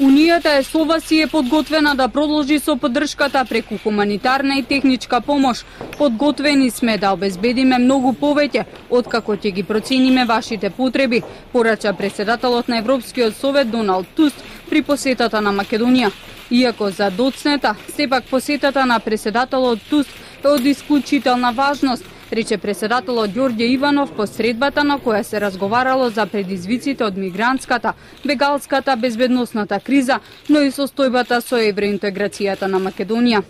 Унијата е со вас и е подготвена да продолжи со поддршката преку хуманитарна и техничка помош. Подготвени сме да обезбедиме многу повеќе откако ќе ги процениме вашите потреби, порача претседателот на Европскиот совет Доналд Туск при посетата на Македонија. Иако за доцнета, сепак посетата на претседателот Туск е од исклучителна важност, рече претседателот Ѓорѓе Иванов по средбата на која се разговарало за предизвиците од мигрантската, бегалската, безбедносната криза, но и состојбата со евроинтеграцијата на Македонија.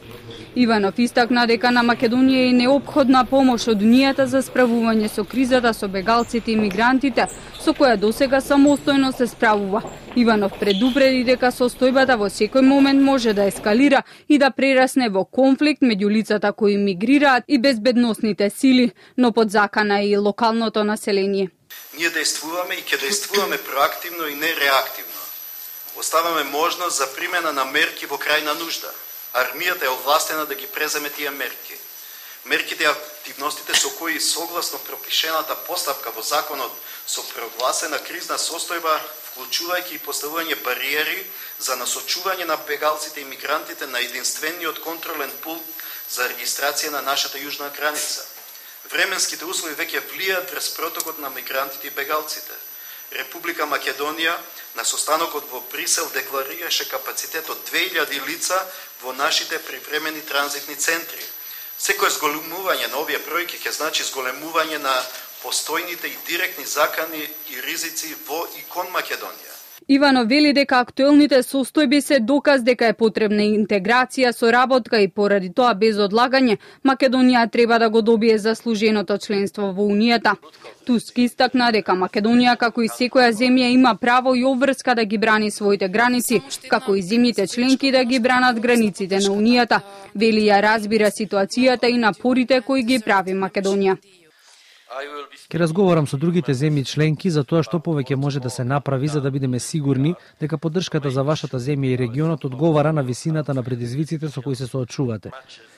Иванов истакна дека на Македонија е неопходна помош од Унијата за справување со кризата со бегалците и мигрантите, со која досега самостојно се справува. Иванов предупреди дека состојбата во секој момент може да ескалира и да прерасне во конфликт меѓу лицата кои мигрираат и безбедносните сили, но под закана и локалното население. Ние действуваме и ќе действуваме проактивно и не реактивно. Оставаме можност за примена на мерки во крајна нужда. Армијата е овластена да ги преземе тие мерки. Мерките и активностите со кои согласно пропишената постапка во законот со прогласена кризна состојба, вклучувајќи и поставување бариери за насочување на бегалците и мигрантите на единствениот контролен пункт за регистрација на нашата јужна граница. Временските услови веќе влијаат врз протокот на мигрантите и бегалците. Република Македонија на состанокот во Брисел декларираше капацитет од 2000 лица во нашите привремени транзитни центри. Секој зголемување на овие бројки ќе значи зголемување на постојните и директни закани и ризици во и кон Македонија. Иванов вели дека актуелните состојби се доказ дека е потребна интеграција, соработка и поради тоа без одлагање Македонија треба да го добие заслуженото членство во Унијата. Туск истакна дека Македонија како и секоја земја има право и обврска да ги брани своите граници, како и земјите членки да ги бранат границите на Унијата. Вели ја разбира ситуацијата и напорите кои ги прави Македонија. Ке разговарам со другите земји членки за тоа што повеќе може да се направи за да бидеме сигурни дека поддршката за вашата земја и регионот одговара на висината на предизвиците со кои се соочувате.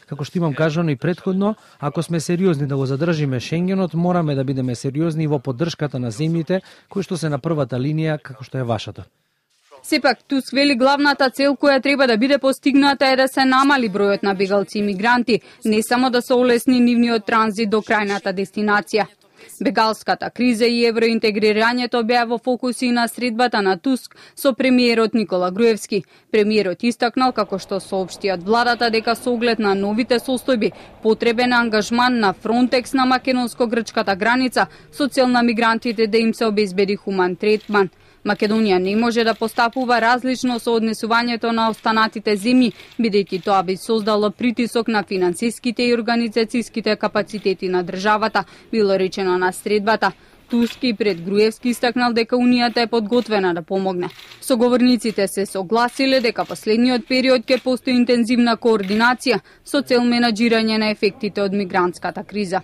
Како што имам кажано и претходно, ако сме сериозни да го задржиме Шенгенот, мораме да бидеме сериозни во поддршката на земјите кои што се на првата линија како што е вашата. Сепак, Туск вели главната цел која треба да биде постигната е да се намали бројот на бегалци и мигранти, не само да се олесни нивниот транзит до крајната дестинација. Бегалската криза и евроинтегрирањето беа во фокуси на средбата на Туск со премиерот Никола Груевски. Премиерот истакнал како што соопшти од владата дека со оглед на новите состојби потребен ангажман на Фронтекс на македонско-грчката граница со цел на мигрантите да им се обезбеди хуман третман. Македонија не може да постапува различно со однесувањето на останатите земји, бидејќи тоа би создало притисок на финансиските и организацијските капацитети на државата, било речено на средбата. Туск и пред Груевски истакнал дека Унијата е подготвена да помогне. Соговорниците се согласиле дека последниот период ќе постои интензивна координација со цел менаџирање на ефектите од мигрантската криза.